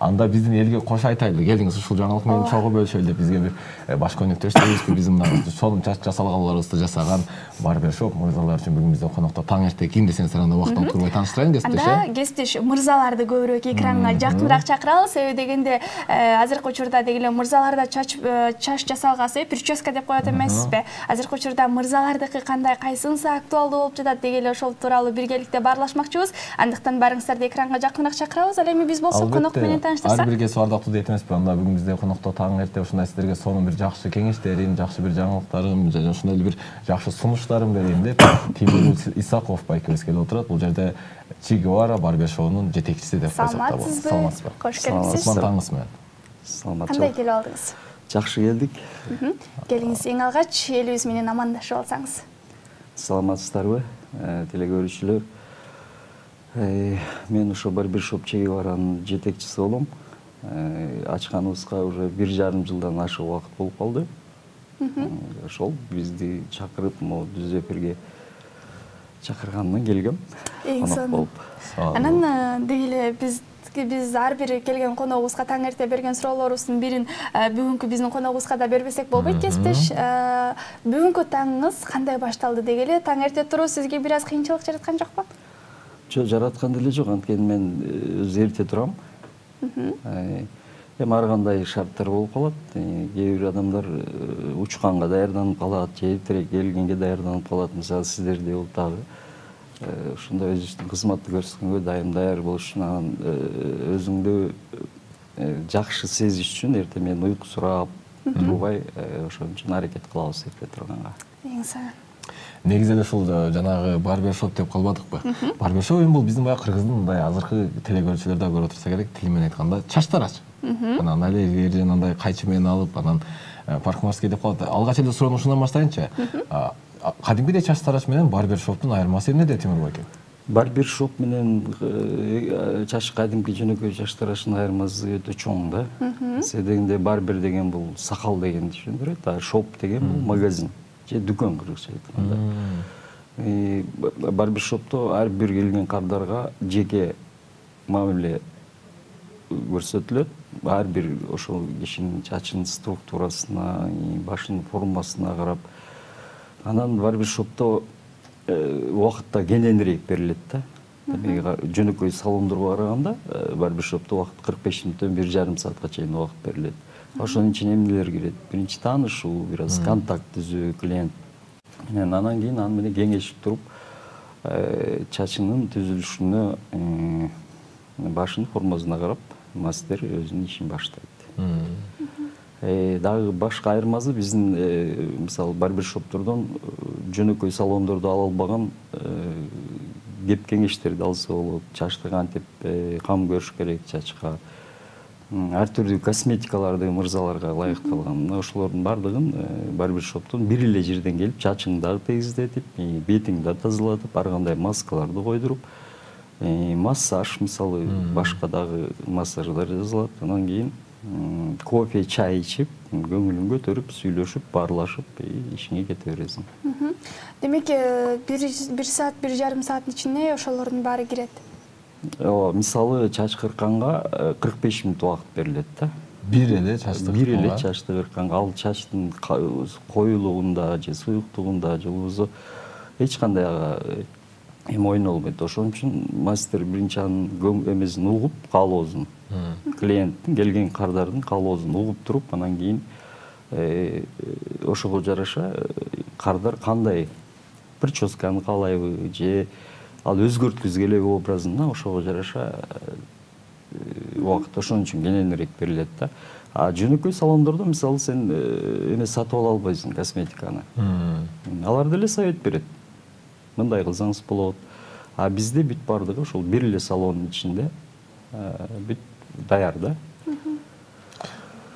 анда биздин элге кош айтайлы, келиңиз ушул жаңылык менен чогуу бөлүшөлү деп бизге бир баш өнөктөштөрүбүз, биздин мына сонун чач жасалгаларыбызды жасаган барбершоп мырзалар үчүн бүгүн биздин конокто таң эрте ким десеңиз анда убактан турбай тааныштырайын кесиптеш. Анда кесиптеш мырзаларды көбүрөөк экранга жакыныраак чакыралы, себеби дегенде азыркы учурда дегеле мырзаларда чач жасалгасы прическа деп коет эмессизби? Азыркы учурда мырзалардыкы кандай, кайсынысы актуалдуу болуп жатат дегеле ошол тууралуу биргеликте баарлашмакчыбыз. Андыктан барыңыздарды экранга жакыныраак чакырабыз. Ал эми биз болсо конок менен тааныштырсак. Ар бир кесип ардактуу дейт эмеспи? Анда бүгүн бизде конокто таң эрте ушундай сиздерге сонун бир жакшы кеңештерин, жакшы бир жаңылыктарын, жана ушундай бир жакшы сунуштарын берейин деп Тимур Исаков байкебиз келип отурат. Бул жерде Че Гевара барбершоунун жетекчиси деп койсок да болот. Саламатсызбы? Кош келипсиз. Таңыңыз менен. Саламатчылык. Кандай келип алдыңыз? Жакшы келдик. Келиңиз, эң алгач элибиз менен амандашып алсаңыз. Саламатсыздарбы, телекөрүүчүлөр? Мен ошо барбершоп Че Геваранын жетекчиси болом. Ачканыбызга уже 1,5 жылдан ашык убакыт болуп калды. Ошол бизди чакырып, могу түз эфирге чакыргандан келгем. Эң сонун. Анан дегеле биз ар бир келген коногубузга таң эрте берген суроолорубуздун бирин бүгүнкү биздин коногубузга да бербесек болбойт кесиптеш. Бүгүнкү таңыңыз кандай башталды дегеле? Таң эрте туруу сизге бир аз кыйынчылык жараткан жокпу? Жок, жараткан деле жок, анткени мен өзү эрте турам. Эми ар кандай шарттар болуп калат. Кээ бир адамдар учканга даярданып калат, же эртерээк келгенге даярданып калат. Мисалы сиздерде бул дагы ушундай өзүбүздүн кызматты көрсөткөнгө дайым даяр болуш үчүн, анан өзүңдү жакшы сезиш үчүн эрте менен уйкусурап турбай, ошон үчүн аракет кылабыз эрте турганга. Эң сонун. Негизи эле ушул жанагы барбершоп деп калбадыкпы? Барбершоп эми бул биздин баягы кыргыздын мындай азыркы телекөрүүчүлөр да көрүп отурса керек, тили менен айтканда чач тарач. Анан али андай кайчы менен алып, анан парикмахерский деп калат. Алгач эле суроону ушундан баштайынчы. Кадимгидей чач тарач менен барбершоптун айырмасы эмнеде, Тимур байке? Барбершоп менен чач кадимки жөнөкөй чач тарачтын айырмасы өтө чоң да. Себеби дегенде барбер деген бул сакал дегенди түшүндүрөт, а шоп деген бул магазин же дүкөн кыргызча айтканда. Барбершопто ар бир келген кардарга жеке мамиле көрсөтүлөт. Ар бир ошол кишинин чачынын структурасына, башынын формасына карап, анан барбершопто убакыт да кененирээк берилет да. Жөнөкөй салондорго караганда барбершопто убакыт 45 мүнөттөн 1,5 саатка чейин убакыт берилет. Ошонун ичине эмнелер кирет? Биринчи таанышуу, бир аз контакт түзүү клиент менен, анан кийин аны менен кеңешип туруп, чачынын түзүлүшүнө, башынын формасына карап, мастер өзүнүн ишин баштайт. Дагы башка айырмасы биздин мисалы барбершоптордон жөнөкөй салондордо ала албаган кеп кеңештерди алса болот. Чачты кантип кам көрүш керек чачка, ар түрдүү косметикаларды мырзаларга ылайыкталган. Ошолордун бардыгын барбершоптон бир эле жерден келип, чачыңды дагы тегиздетип, бетиңди да тазалатып, ар кандай маскаларды койдуруп, массаж мисалы башка дагы массаждар жасалат. Анан кийин кофе, чай ичип, көңүлүн көтөрүп, сүйлөшүп, баарлашып, ишиңе кете бересиң. Демек, 1 саат, 1,5 сааттын ичине ошолордун баары кирет. Мисалы чач кыркканга 45 мүнөт убакыт берилет да. Бир эле чачты кыркканга? Бир эле чачты кыркканга. Ал чачтын коюлугунда же суюктугунда же болбосо эч кандай эми ойно болбойт. Ошон үчүн мастер биринчи анын эмесин угуп, каалоосун, клиенттин келген кардардын каалоосун угуп туруп, анан кийин ошого жараша кардар кандай прическаны каалайбы же ал өзгөрткүсү келеби образына, ошого жараша убакыт ошон үчүн кененирээк берилет да. А жөнөкөй салондордо мисалы сен эме сатып ала албайсың, косметиканы. Алар деле совет берет. Мындай кылсаңыз болот. А бизде бүт бардыгы ошол бир эле салондун ичинде бүт даяр да.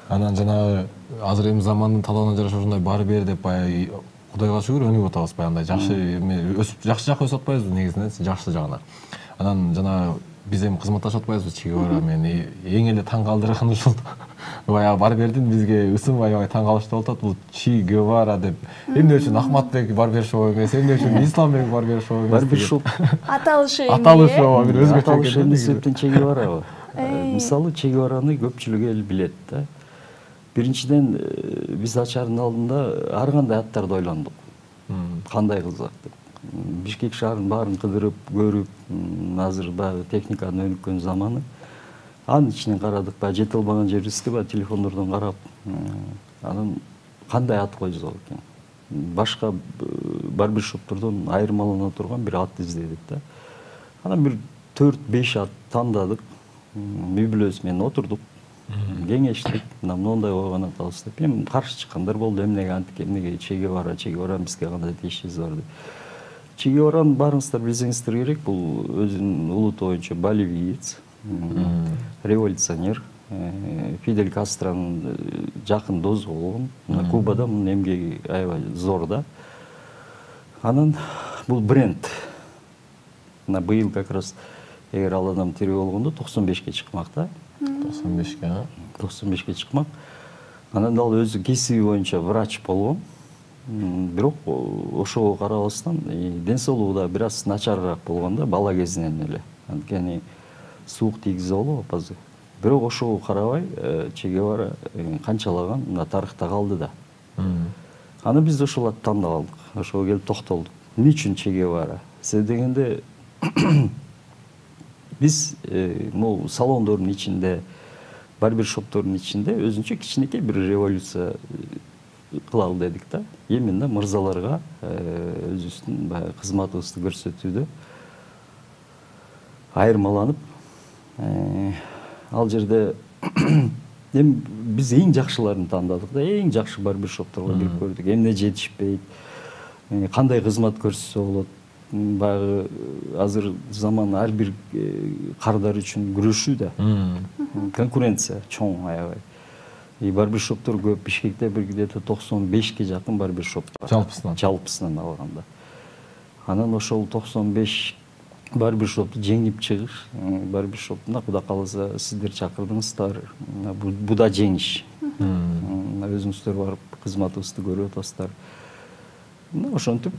Анан жанагы азыр эми замандын талабына жараша ушундай барбер деп баягы Кудайга шүгүр өнүгүп атабыз баягындай. Жакшы өсүп, жакшы жакка өсүп атпайбызбы негизинен, жакшы жагына. Анан жана биз эми кызматташып атпайбызбы Че Гевара менен. Эң эле таң калтырганы ушул баягы барбердин бизге ысынбай таң калыштуу болуп атат. Бул Че Гевара деп. Эмне үчүн Ахматбек барбершоп эмес, эмне үчүн Исламбек барбершоп эмес? Барбершоп аталышы эмне? Аталышы бир өзгөчө себептен Че Гевара. Мисалы Че Гевараны көпчүлүк эл билет да. Биринчиден биз ачардын алдында ар кандай аттарды ойлондук. Кандай кылсак деп. Бишкек шаарынын баарын кыдырып, көрүп, азыр баягы техниканын өнүккөн заманы. Анын ичинен карадык, баягы жете албаган жерибизди баягы телефондордон карап, анан кандай ат койсок экен. Башка барбершоптордон айырмалана турган бир ат издедик да. Анан бир 4-5 ат тандадык. Үй бүлөбүз менен отурдук. Кеңештик, мындай койгон атабыз деп. Эми каршы чыккандар болду. Эмнеге антип, эмнеге Че Гевара бизге кандай тиешибиз бар деп. Че Гевараны баарыңыздар билсеңиздер керек. Бул өзүнүн улуту боюнча боливиец, революционер, Фидель Кастронун жакын досу болгон. Кубада мунун эмгеги аябай зор да. Анан бул бренд. Мына быйыл как раз эгер ал адам тирүү болгондо 95ке чыкмак да. 95ке. 95ке чыкмак. Анан ал өзү кесиби боюнча врач болгон. Бирок ошого карабастан ден соолугу да бир аз начарыраак болгон да бала кезинен эле. Анткени суук тийгизе болот азыр. Бирок ошого карабай Че Гевара канчалаган мына тарыхта калды да. Аны биз ошол атты тандап алдык. Ошого келип токтолдук. Эмне үчүн Че Гевара? Себеби дегенде биз могу салондордун ичинде, барбершоптордун ичинде өзүнчө кичинекей бир революция кылалы дедик да. Именно мырзаларга өзүбүздүн баягы кызматыбызды көрсөтүүдө айырмаланып, ал жерде эми биз эң жакшыларын тандадык да, эң жакшы барбершопторго кирип көрдүк. Эмне жетишпейт, кандай кызмат көрсөтсө болот. Баягы азыр заман ар бир кардар үчүн күрөшүү да. Конкуренция чоң аябай. Барбершоптор көп. Бишкекте бир где-то 95ке жакын барбершоп бар. Жалпысынан алганда. Анан ошол 95 барбершопту жеңип чыгыш, барбершоптун Кудай кааласа сиздер чакырдыңыздар. Бу да жеңиш. Өзүңүздөр барып кызматыбызды көрүп атасыздар. Ошентип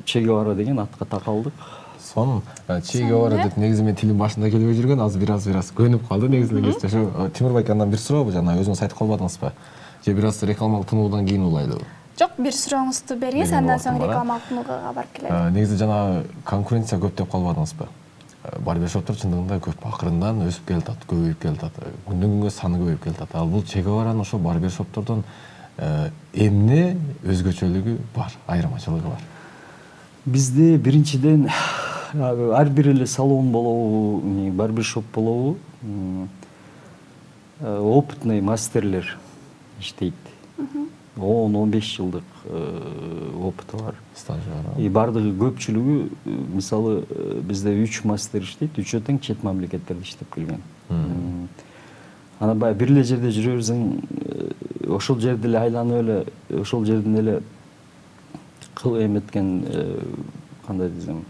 Че Гевара деген атка такалдык. Сонун Че Гевара деп негизи мен тилим башында келбей жүргөн, азыр бир аз көнүп калды негизи. Ошо Тимур байкамдан бир сурообу, жана өзүңүз айтып калбадыңызбы? Же бир аз рекламалык тынуудан кийин улайлыбы? Жок, бир сурооңузду бериңиз, андан соң рекламалык тынууга барып келели. Негизи жана конкуренция көп деп калбадыңызбы? Барбершоптор чындыгында көп, акырындан өсүп келатат, көбөйүп келатат. Күндөн күнгө саны көбөйүп келатат. Ал бул Че Геваранын ошо барбершоптордон эмне өзгөчөлүгү бар, айырмачылыгы бар? Бизде биринчиден ар бир эле салон болобу, барбершоп болобу, опытный мастерлер иштейт. 10-15 жылдык опыты бар. Стажы бар. Бардыгы көпчүлүгү, мисалы, бизде 3 мастер иштейт, 3 тең чет мамлекеттерде иштеп келген. Ана баягы бир эле жерде жүрө берсең, ошол жерде эле айланып эле, ошол жерден эле эметкен, кандай десем,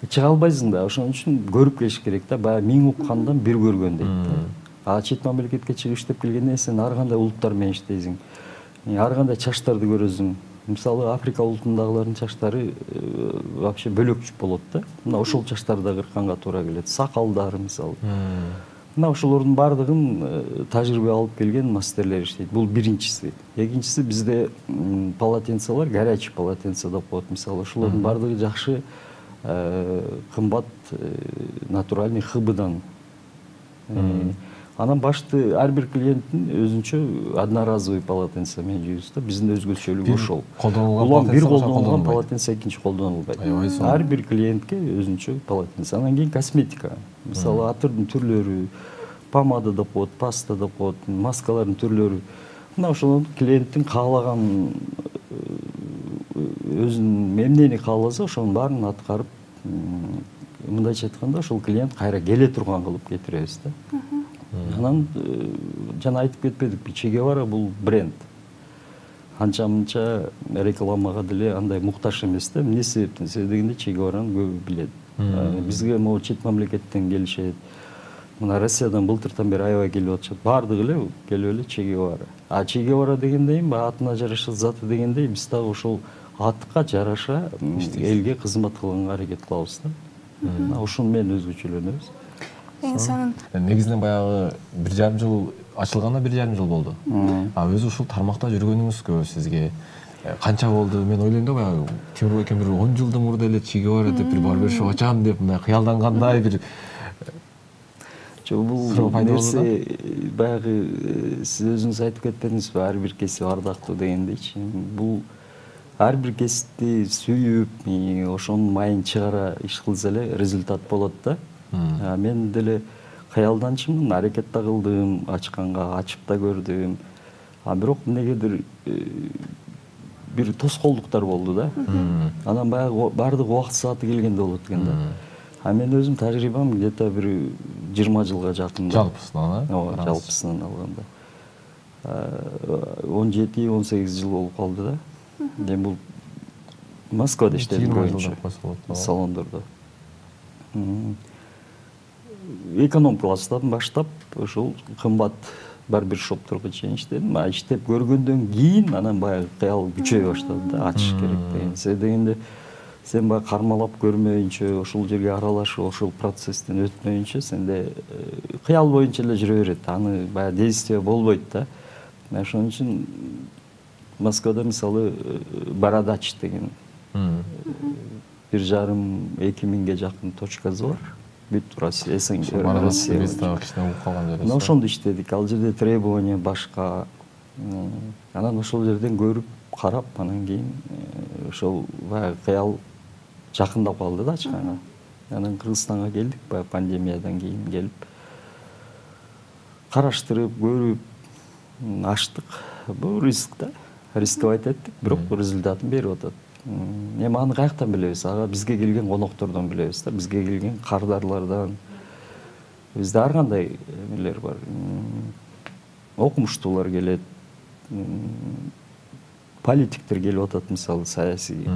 чыга албайсың да. Ошон үчүн көрүп келиш керек да, баягы 1000 уккандан бир көргөн дейт. Чет мамлекетке чыгып иштеп келгенде сен ар кандай улуттар менен иштейсиң. Ар кандай чачтарды көрөсүң. Мисалы, Африка улутундагылардын чачтары вообще бөлөкчү болот да. Мына ошол чачтарды кыркканга туура келет. Сакалдар мисалы. Мына ошолордун баардыгын тажрыйба алып келген мастерлер иштейт. Бул биринчиси. Экинчиси, бизде полотенцалар, горячий полотенца деп коет. Мисалы, ошолордун баардыгы жакшы, кымбат, натуральный хыбыдан. Анан башты ар бир клиенттин өзүнчө одноразовый полотенце менен жүйүбүз да. Биздин өзгөчөлүгү ошол. Улам бир колдонулган полотенце экинчи колдонулбайт. Ар бир клиентке өзүнчө полотенце. Анан кийин косметика. Мисалы, атырдын түрлөрү, помада деп коет, паста деп коет, маскалардын түрлөрү. Мына ошол клиенттин каалаган өзүнүн эмнени кааласа, ошонун баарын аткарып, мындайча айтканда, ошол клиент кайра келе турган кылып кетиребиз да. Анан жана айтып кетпедикпи, Че Гевара бул бренд. Анча-мынча рекламага деле андай муктаж эмес да. Эмне себептен? Себеби дегенде Че Гевараны көбү билет. Бизге могу чет мамлекеттен келишет. Мына Россиядан былтыртан бери аябай келип атышат. Баардыгы эле келип эле Че Гевара. Че Гевара дегендей, атына жараша заты дегендей, биз дагы ошол атка жараша элге кызмат кылганга аракет кылабыз да. Ошону менен өзгөчөлөнөбүз. эң сонун. Негизинен баягы 1,5 жыл ачылганына 1,5 жыл болду. Өзү ушул тармакта жүргөнүңүзгө сизге канча болду? Мен ойлойм да баягы Темурбай экен бир 10 жылдын мурда эле чиги бар деп бир барбершоп ачам деп мындай кыялдангандай бир бул нерсе баягы сиз өзүңүз айтып кетпедиңизби, ар бир кесип ардактуу дегендейчи. Бул ар бир кесипти сүйүп, ошонун майын чыгара иш кылса эле результат болот да. Мен деле кыялданчымын, аракет да кылдым, ачканга ачып да көрдүм. Бирок эмнегедир бир тоскоолдуктар болду да. Анан баягы баардык убакыт сааты келгенде болот экен да. Мен өзүм тажрыйбам где-то бир 20 жылга жакын. Жалпысынан, Ооба, жалпысынан алганда. 17-18 жыл болуп калды да. Мен бул Москвада иштедим көбүнчө, салондордо. Эконом класстан баштап ушул кымбат барбершопторго чейин иштедим. Иштеп көргөндөн кийин анан баягы кыял күчөй баштады да, ачыш керек деген. Себеби дегенде сен баягы кармалап көрмөйүнчө, ошол жерге аралашып, ошол процесстен өтмөйүнчө сенде кыял боюнча эле жүрө берет. Аны баягы действие болбойт да. Ошон үчүн Москвада мисалы Бородач деген 1,5-2 миңге жакын точкасы бар. Бүт Россия, СНГ, Россия. Ошондо иштедик. Ал жерде требование башка. Анан ошол жерден көрүп, карап, анан кийин ошол баягы кыял жакындап калды да ачканга. Анан Кыргызстанга келдик, баягы пандемиядан кийин келип, караштырып, көрүп, ачтык. Бул риск да. Рисковать эттик, бирок результатын берип атат. Эми аны каяктан билебиз? Ага бизге келген коноктордон билебиз да, бизге келген кардарлардан. Бизде ар кандай эмелер бар. Окумуштуулар келет, политиктер келип атат, мисалы саясий,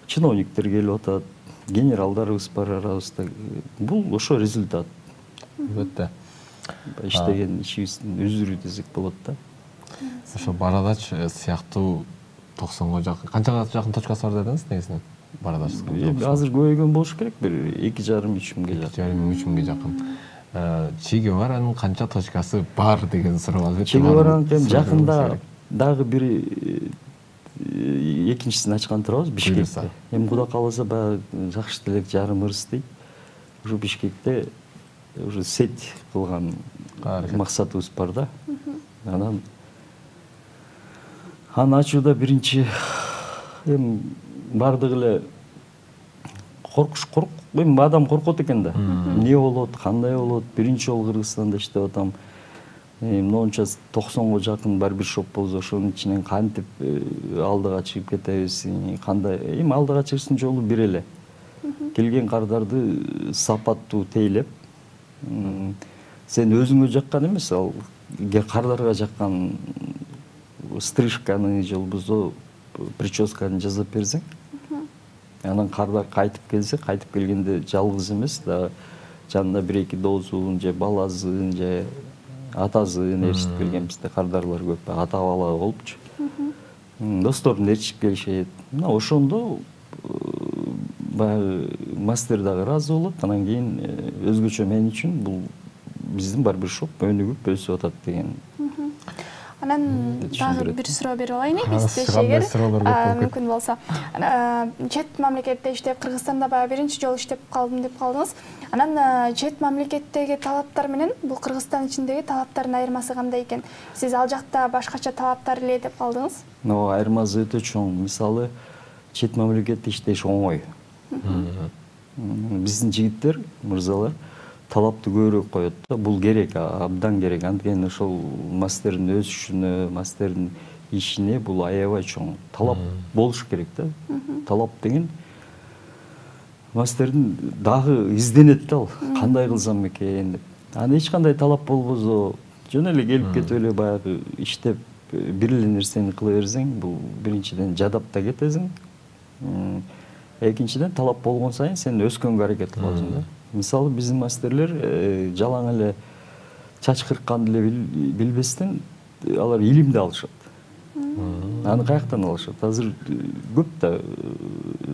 чиновниктер келип атат, генералдарыбыз бар арабызда. Бул ошо результат. Албетте. Иштеген ишибиздин үзүрү десек болот да. Ошо Бородач сыяктуу 90го жакын, канчага жакын точкасы бар дедиңиз негизинен? Бородач. Азыр көбөйгөн болуш керек, бир 2,5-3 миңге жакын. 2,5-3 миңге жакын. Чиги баранын канча точкасы бар деген суроо албетте. Чиги баранын жакында дагы бир экинчисин ачкан турабыз Бишкекте. Эми Кудай кааласа баягы жакшы делек жарымыбыз дейт. Ушу Бишкекте уже сеть кылган максатыбыз бар да. Анан аны ачууда биринчи эми бардыгы эле эми адам коркот экен да. Эмне болот, кандай болот? Биринчи жолу Кыргызстанда иштеп атам. Монча 90го жакын барбершоп болсо, ошонун ичинен кантип алдыга чыгып кетебиз? Кандай? Эми алдыга чыгыштын жолу бир эле. Келген кардарды сапаттуу тейлеп, сен өзүңө жаккан эмес, ал кардарга жаккан стрижканы же болбосо прическаны жасап берсең, анан кардар кайтып келсе, кайтып келгенде жалгыз эмес да, жанында 1-2 доозун же баласын же атасын ээрчитип келген бизде кардарлар көп, ата бала болупчу. Досторун ээрчитип келишет. Мына ошондо баягы мастер дагы ыраазы болот. Анан кийин өзгөчө мен үчүн бул биздин барбершоп өнүгүп өсүп атат деген. Анан дагы бир суроо берип алайын, биздешегер мүмкүн болсо. Чет мамлекетте иштеп, Кыргызстанда баягы биринчи жолу иштеп калдым деп калдыңыз. Анан чет мамлекеттеги талаптар менен бул Кыргызстан ичиндеги талаптардын айырмасы кандай экен? Сиз ал жакта башкача талаптар эле деп калдыңыз. Айырмасы өтө чоң. Мисалы, чет мамлекетте иштеш оңой. Биздин жигиттер, мырзалар талапты көбүрөөк коет да. Бул керек, абдан керек. Анткени ошол мастердин өсүшүнө, мастердин ишине бул аябай чоң. Талап болуш керек да. Талап деген мастердин дагы изденет да, ал кандай кылсам экен деп. Аны эч кандай талап болбосо, жөн эле келип кетип эле баягы иштеп бир эле нерсени кыла берсең, бул биринчиден жадап да кетесиң. Экинчиден талап болгон сайын сен өскөнгө аракет кыласың да. Мисалы биздин мастерлер жалаң эле чач кыркканды эле билбестен алар илимди алышат. Аны каяктан алышат? Азыр көп да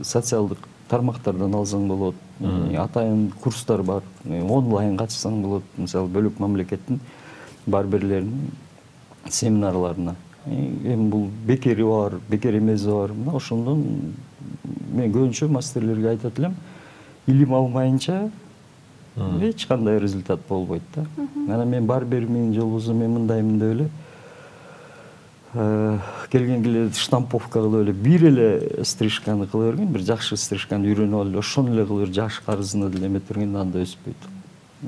социалдык тармактардан алсаң болот, Атайын курстар бар. Онлайн катышсаң болот. Мисалы бөлөк мамлекеттин барберлеринин семинарларына. Эми бул бекери бар, бекер эмеси бар. Мына ошондон мен көбүнчө мастерлерге айтат элем, илим алмайынча эч кандай результат болбойт да. Анан мен барбермин, жолбосо мен мындаймын деп эле келген келе штамповка кылып эле бир эле стрижканы кыла берген, бир жакшы стрижканы үйрөнүп алып ошону эле кылып жаш карызына деле эмете берген, анда өспөйт.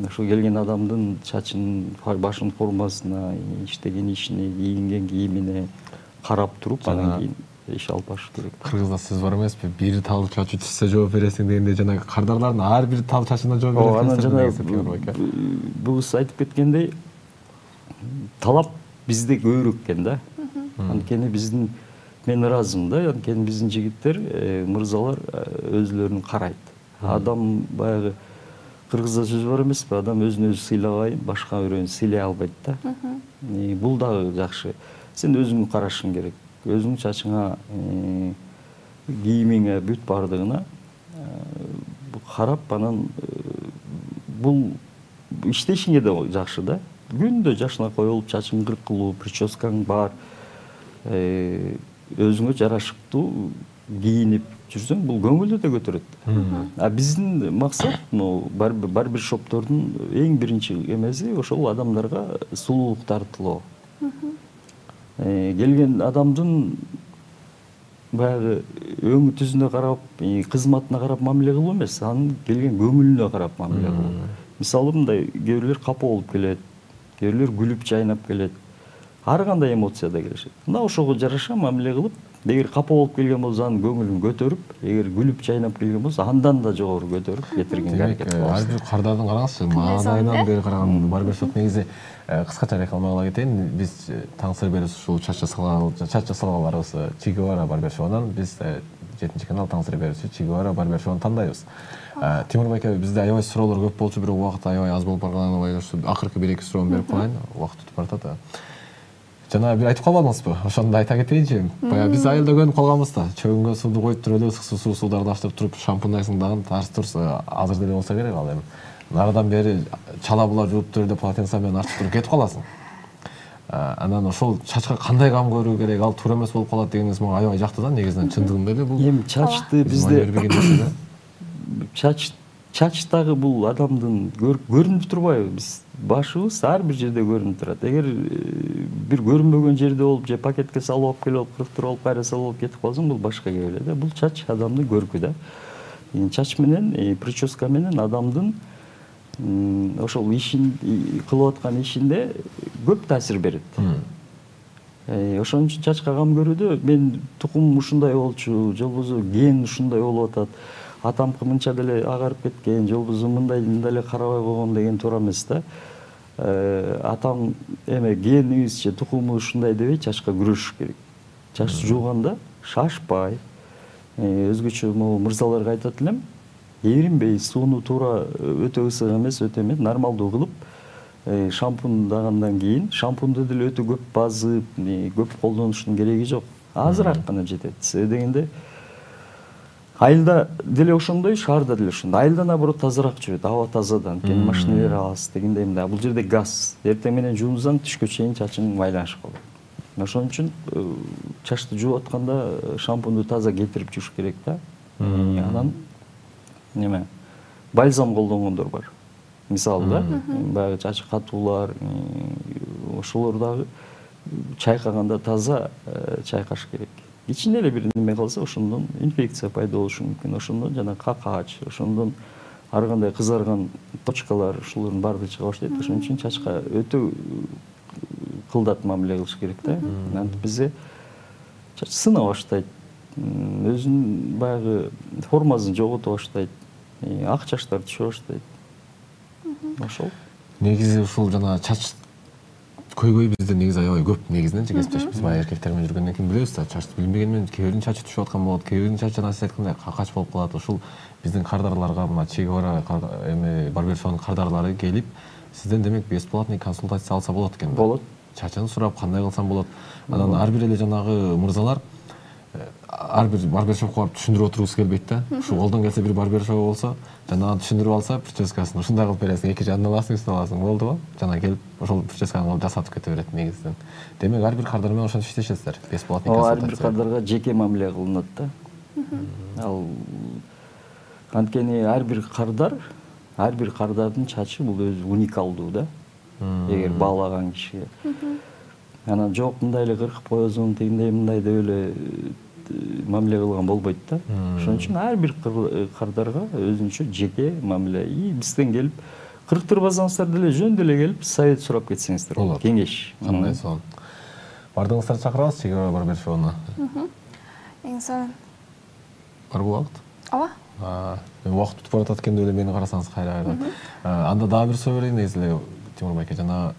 Ошо келген адамдын чачын, башын формасына, иштеген ишине, кийинген кийимине карап туруп, анан кийин иш алып баш керек. Кыргызда сөз бар эмеспи? Бир тал чачы түшсө жооп бересиң дегенде, жанагы кардарлардын ар бир тал чачына жооп бересиң. Анан жана бул айтып кеткендей, талап бизде көбүрөөк экен да. Анткени биздин, мен ыраазымын да, анткени биздин жигиттер, мырзалар өзлөрүн карайт. Адам баягы кыргызда сөз бар эмеспи? Адам өзүн өзү сыйлагай, башка бирөөнү сыйлай албайт да. Бул дагы жакшы. Сен өзүңдү карашың керек. Өзүңдүн чачыңа, кийимиңе, бүт бардыгына карап, анан бул иштешиңе да жакшы да. Күндө жашына коюлуп, чачың кыркылуу, прическаң бар, өзүңө жарашыктуу кийинип жүрсөң, бул көңүлдү да көтөрөт. А биздин максат, барбер шоптордун эң биринчи эмеси ошол адамдарга сулуулук тартылоо. Келген адамдын баягы өңү түзүнө карап, кызматына карап мамиле кылуу эмес, анын келген көңүлүнө карап мамиле кылуу. Мисалы мындай, кээ бирлер капа болуп келет, кээ бирлер күлүп жайнап келет. Ар кандай эмоцияда келишет. Мына ошого жараша мамиле кылып, эгер капа болуп келген болсо анын көңүлүн көтөрүп, эгер күлүп жайнап келген болсо андан да жогору көтөрүп кетиргенге аракет кылабыз. Ар бир кардардын караңызчы, маанайынан бери караганда барбер шоп негизи кыскача рекламага ала кетейин. Биз таң сыр берип ушул чач жасалгаларыбыз Че Гевара барбер шоунан биз 7-канал таң сыр берүүсү Че Гевара барбер шоуну тандайбыз. Тимур байке, бизде аябай суроолор көп болчу, бирок убакыт аябай аз болуп барганына байланыштуу акыркы 1-2 суроону берип коеюн, убакыт өтүп баратат. Жана бир айтып калбадыңызбы? Ошону айта кетейинчи. Баягы биз айылда көрүнүп калганбыз да. Чөгүнгө сууду коюп туруп эле ысык суударды ачтырып туруп шампундайсың дагы тарс турс азыр деле болсо керек ал эми. Нарыдан бери чала була жууп туруп эле полотенце менен ачып туруп кетип каласың. Анан ошол чачка кандай кам көрүү керек, ал туура эмес болуп калат дегениңиз мага аябай жакты да, негизинен чындыгында эле бул. Эми чачты бизде чачтагы бул адамдын көрүнүп турбайбы? Биз башыбыз ар бир жерде көрүнүп турат. Эгер бир көрүнбөгөн жерде болуп, же пакетке салып алып келип, кырктырып алып, кайра салып алып кетип калсаң, бул башка кеп эле да. Бул чач адамдын көркү да. Чач менен, прическа менен адамдын ошол ишин кылып аткан ишинде көп таасир берет. Ошон үчүн чачка кам көрүүдө мен тукум ушундай болчу, же болбосо ген ушундай болуп атат, атамкы мынча деле агарып кеткен, же болбосо мындай эле карабай койгон деген туура эмес да. Атам эме генибиз же тукумубуз ушундай дебей чачка күрөшүш керек. Чач жууганда шашпай, өзгөчө могу мырзаларга айтат элем, эринбей, сууну туура өтө ысык эмес, өтө эме нормалдуу кылып, шампундагандан кийин шампунду деле өтө көп базып, көп колдонуштун кереги жок. Азыраак гана жетет. Себеби дегенде айылда деле ошондой, шаарда деле ошондой. Айылда наоборот тазараак жүрөт, аба тазадан, анткени машинелер аз дегендей мындай. Бул жерде газ. Эртең менен жуунсаң түшкө чейин чачың майланышып калат. Ошон үчүн чачты жууп атканда шампунду таза кетирип жууш керек да. Анан неме? Бальзам колдонгондор бар. Мисалы да, баягы чачы катуулар, ошолор дагы чайкаганда таза чайкаш керек. Ичинде эле бир неме калса, ошондон инфекция пайда болушу мүмкүн. Ошондон жана какач, ошондон ар кандай кызарган точкалар, ошолордун баардыгы чыга баштайт. Ошон үчүн чачка өтө кылдат мамиле кылыш керек да. Антип бизде чач сына баштайт, өзүнүн баягы формасын жогото баштайт, ак чачтар түшө баштайт. Ошол. Негизи ушул жана чач көйгөй бизде негизи аябай көп негизиненчи кесиптеш. Биз баягы эркектер менен жүргөндөн кийин билебиз да, чачты билбеген менен кээ биринин чачы түшүп аткан болот, кээ биринин чачы жана сиз айткандай какач болуп калат. Ушул биздин кардарларга мына Че Гевара эме барбер шоунун кардарлары келип, сизден демек бесплатный консультация алса болот экен да. Болот. Чачын сурап кандай кылсам болот. Анан ар бир эле жанагы мырзалар ар бир барбершопко барып түшүндүрүп отургусу келбейт да. Ушу колдон келсе бир барбершоп болсо, жана түшүндүрүп алса, прическасын ушундай кылып бересиң, эки жагын аласың, үстүнө аласың, болдубу? Жана келип ошол прическаны жасатып кете берет негизинен. Демек ар бир кардар менен ошентип иштешесиздер. Бесплатный консультация. Ар бир кардарга жеке мамиле кылынат да. Ал анткени ар бир кардардын чачы бул өзү уникалдуу да. Эгер баалаган кишиге. Анан жок мындай эле кыркып коесуң, тигиндей мындай деп эле мамиле кылган болбойт да. Ошон үчүн ар бир кардарга өзүнчө жеке мамиле. Бизден келип кырктырбасаңыздар деле жөн деле келип совет сурап кетсеңиздер болот. Кеңеш. Кандай сонун. Бардыгыңыздарды чакырабыз Чегара барбершопуна. Эң сонун. Барбы убакыт? Ооба. Убакыт бүтүп баратат экен деп эле мени карасаңыз кайра. Анда дагы бир суроо берейин негизи эле Тимур байке, жана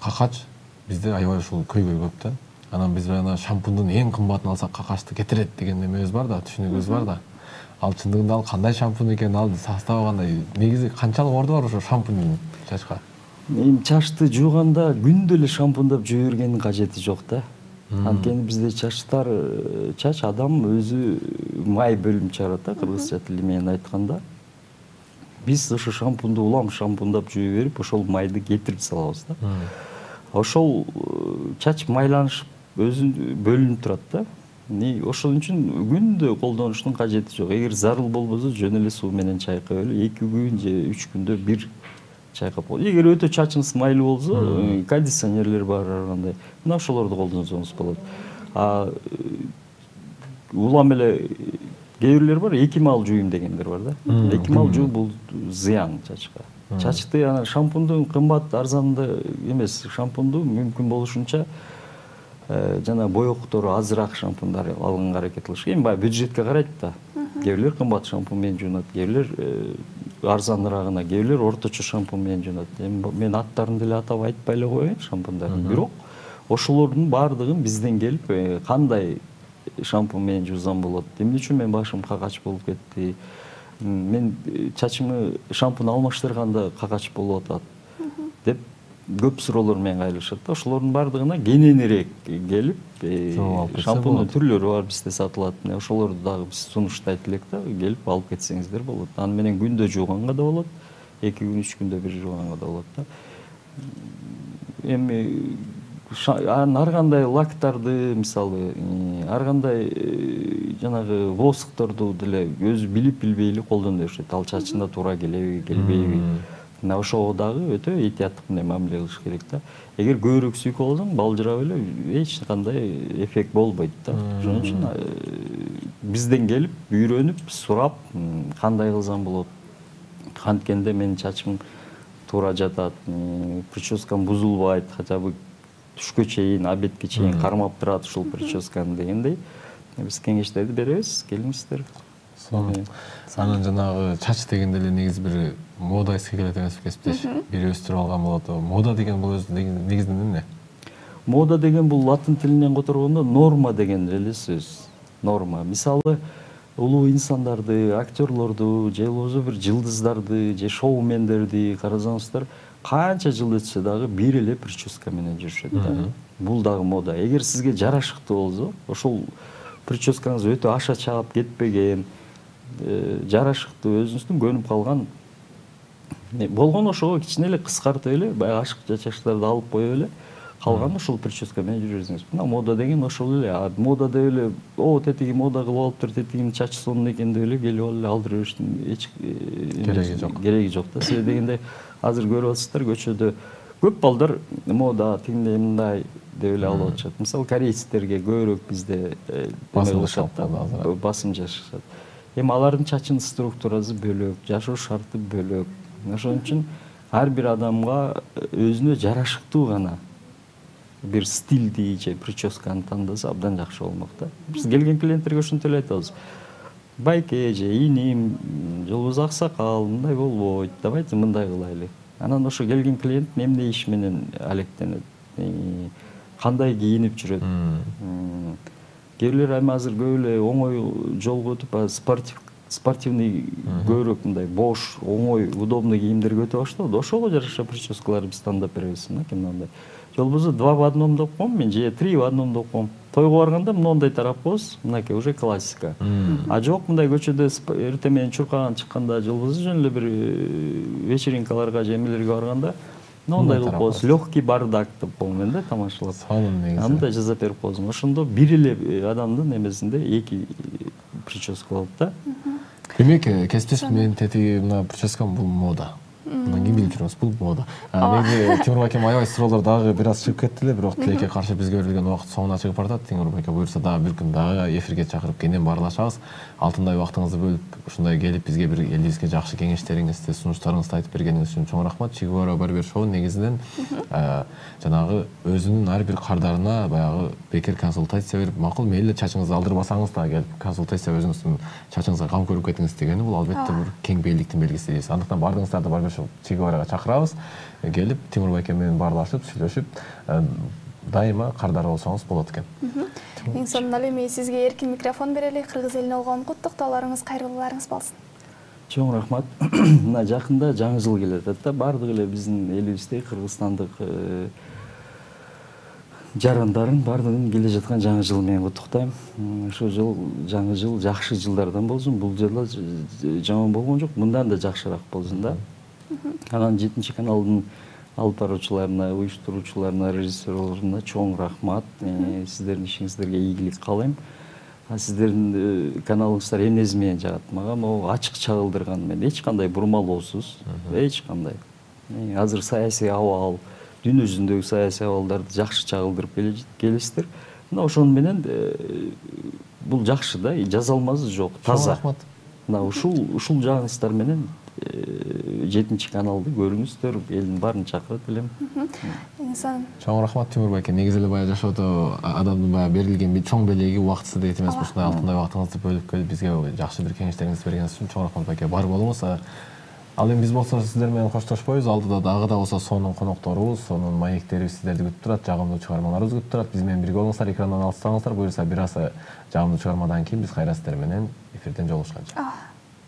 какач бизде аябай ушул көйгөй көп да. Анан биз жана шампундун эң кымбатын алсак какачты кетирет деген эмебиз бар да, түшүнүгүбүз бар да. Ал чындыгында ал кандай шампунь экен, ал составы кандай? Негизи канчалык орду бар ошо шампуньдун чачка? Эми чачты жууганда күндө эле шампундап жуу бергендин кажети жок да. Анткени бизде чач адам өзү май бөлүм чыгарат да, кыргызча тили менен айтканда. Биз ошо шампунду улам шампундап жуу берип, ошол майды кетирип салабыз да. Ошол чач майланышып өзү бөлүнүп турат да. Ошон үчүн күндө колдонуштун кажети жок. Эгер зарыл болбосо жөн эле суу менен чайкап эле 2 күн же 3 күндө бир чайкап болот. Эгер өтө чачыңыз майлуу болсо, кондиционерлер бар ар кандай. Мына ошолорду колдонсоңуз болот. Улам эле кээ бирлер бар, эки маал жууйм дегендер бар да. Эки маал жуу бул зыян чачка. Чачты анан шампунду кымбат арзанды эмес, шампунду мүмкүн болушунча жана боектору азыраак шампундар алганга аракет кылыш. Эми баягы бюджетке карайт да. Кээ бирлер кымбат шампунь менен жуунат, кээ бирлер арзаныраагына, кээ бирлер орточо шампунь менен жуунат. Эми мен аттарын деле атап айтпай эле коеюн шампундардын. Бирок ошолордун баардыгын бизден келип кандай шампунь менен жуусам болот, эмне үчүн менин башым какач болуп кетти, мен чачымы шампунь алмаштырганда какач болуп атат деп көп суроолор менен кайрылышат да. Ошолордун баардыгына кененирээк келип, шампуньдун түрлөрү бар бизде сатылат. Ошолорду дагы биз сунуштайт элек да, келип алып кетсеңиздер болот. Аны менен күндө жууганга да болот, 2 күн 3 күндө бир жууганга да болот да. Эми ар кандай лактарды, мисалы, ар кандай жанагы воскторду деле өзү билип билбей эле колдоно беришет. Ал чачында туура келеби, келбейби. Мына ошого дагы өтө этияттык менен мамиле кылыш керек да. Эгер көбүрөөк сүйкөп алсаң, балжырап эле эч кандай эффект болбойт да. Ошон үчүн бизден келип, үйрөнүп, сурап, кандай кылсам болот. Анткенде менин чачым туура жатат, прическам бузулбайт, хотя бы түшкө чейин, обедке чейин кармап турат ушул прическаны дегендей. Биз кеңештерди беребиз, келиңиздер. Анан жанагы чач дегенде эле негизи бир мода эске келет эмеспи кесиптеш? Бир өстүрүп алган болот. Мода деген бул өзү негизинен эмне? Мода деген бул латын тилинен которгондо норма деген эле сөз. Норма. Мисалы, улуу инсандарды, актерлорду, же болбосо бир жылдыздарды, же шоумендерди карасаңыздар, канча жыл өтсө дагы бир эле прическа менен жүрүшөт да. Бул дагы мода. Эгер сизге жарашыктуу болсо, ошол прическаңыз өтө аша чаап кетпеген, жарашыктуу, өзүңүздүн көнүп калган болгон, ошого кичине эле кыскартып эле, баягы ашык чачаштарды алып коюп эле, калган ошол прическа менен жүрө берсеңиз. Мына мода деген ошол эле. Мода деп эле, тетиги мода кылып алыптыр, тетигинин чачы сонун экен деп эле келип алып эле алдыра бериштин эч кереги жок да. Себеби дегенде азыр көрүп атасыздар, көчөдө көп балдар мода, тигиндей мындай деп эле алып атышат. Мисалы, корейцтерге көбүрөөк бизде басым жасашат. Эми алардын чачынын структурасы бөлөк, жашоо шарты бөлөк. Ошон үчүн ар бир адамга өзүнө жарашыктуу гана бир стилди же прическаны тандаса абдан жакшы болмок да. Биз келген клиенттерге ошентип эле айтабыз. Байке же иним, же болбосо аксакал, мындай болбойт, давайте мындай кылайлы. Анан ошо келген клиент эмне иш менен алектенет, кандай кийинип жүрөт. Кээ бирлер эми азыр көп эле оңой жолго өтүп, спортивный көбүрөөк мындай бош, оңой, удобный кийимдерге өтө баштады. Ошого жараша прическалар биз тандап беребиз, мынакей мындай. Жолбосо 2 в одном деп коем мен, же 3 в одном деп коем. Тойго барганда моундай тарап коебуз, мынакей уже классика. А жок мындай көчөдө эртең менен чуркаган чыкканда, жолбосо жөн эле бир вечеринкаларга же эмелерге барганда моундай кылып коебуз. Легкий бардак деп коем мен да, тамашалап. Сонун негизи. Андай жазап берип коебуз. Ошондо бир эле адамдын эмесинде 2 прическа болот да. Демек, кесиптеш менин тетиги мына прическам бул мода. Мына ким билип жүрөбүз, бул мода. Негизи Тимур байкем аябай суроолор дагы бир аз чыгып кетти эле, бирок тилекке каршы бизге берилген убакыт соңуна чыгып баратат. Тимур байке буюрса дагы бир күн дагы эфирге чакырып кенен баарлашабыз. Алтындай убактыңызды бөлүп, ушундай келип бизге бир элибизге жакшы кеңештериңизди, сунуштарыңызды айтып бергениңиз үчүн чоң рахмат. Чигуара Барбер Шоу негизинен жанагы өзүнүн ар бир кардарына баягы бекер консультация берип, макул мейли чачыңызды алдырбасаңыз да келип консультация өзүңүздүн чачыңызга кам көрүп кетиңиз дегени бул албетте бир кең бейликтин белгиси дейбиз. Андыктан баардыгыңыздарды Барбер Шоу Чигуарага чакырабыз. Келип Тимур байке менен баарлашып, сүйлөшүп, дайыма кардар болсоңуз болот экен. Эң сонун эле эми сизге эркин микрофон берели. Кыргыз элине болгон куттуктоолоруңуз, кайрылууларыңыз болсун. Чоң рахмат. Мына жакында жаңы жыл келет да, бардык эле биздин элибизде кыргызстандык жарандарын бардыгын келе жаткан жаңы жыл менен куттуктайм. Ошол жыл жаңы жыл жакшы жылдардан болсун. Бул жыл жаман болгон жок, мындан да жакшыраак болсун да. Анан 7 каналдын алып баруучуларына, уюштуруучуларына, режиссерлоруна чоң рахмат. Сиздердин ишиңиздерге ийгилик каалайм. Сиздердин каналыңыздар эмнеси менен жагат? Мага могу ачык чагылдырган менен, эч кандай бурмалоосуз, эч кандай. Азыр саясий абал, дүйнө жүзүндөгү саясий абалдарды жакшы чагылдырып келесиздер. Мына ошону менен бул жакшы да, жаза алмасы жок, таза. Рахмат. Мына ушул жагыңыздар менен 7 каналды көрүңүздөр, элдин баарын чакырат элем. Чоң рахмат Тимур байке. Негизи эле баягы жашоодо адамдын баягы берилген чоң белеги убактысы дейт эмес, ушундай алтындай убактыңызды бөлүп келип бизге жакшы бир кеңештериңизди бергениңиз үчүн чоң рахмат байке. Бар болуңуз. Ал эми биз болсо сиздер менен коштошпойбуз. Алдыда дагы да болсо сонун конокторубуз, сонун маектерибиз сиздерди күтүп турат, жагымдуу чыгармаларыбыз күтүп турат. Биз менен бирге болуңуздар, экрандан алыстаңыздар. Буюрса бир аз жагымдуу чыгармадан кийин биз кайра сиздер менен эфирден жолугушканча.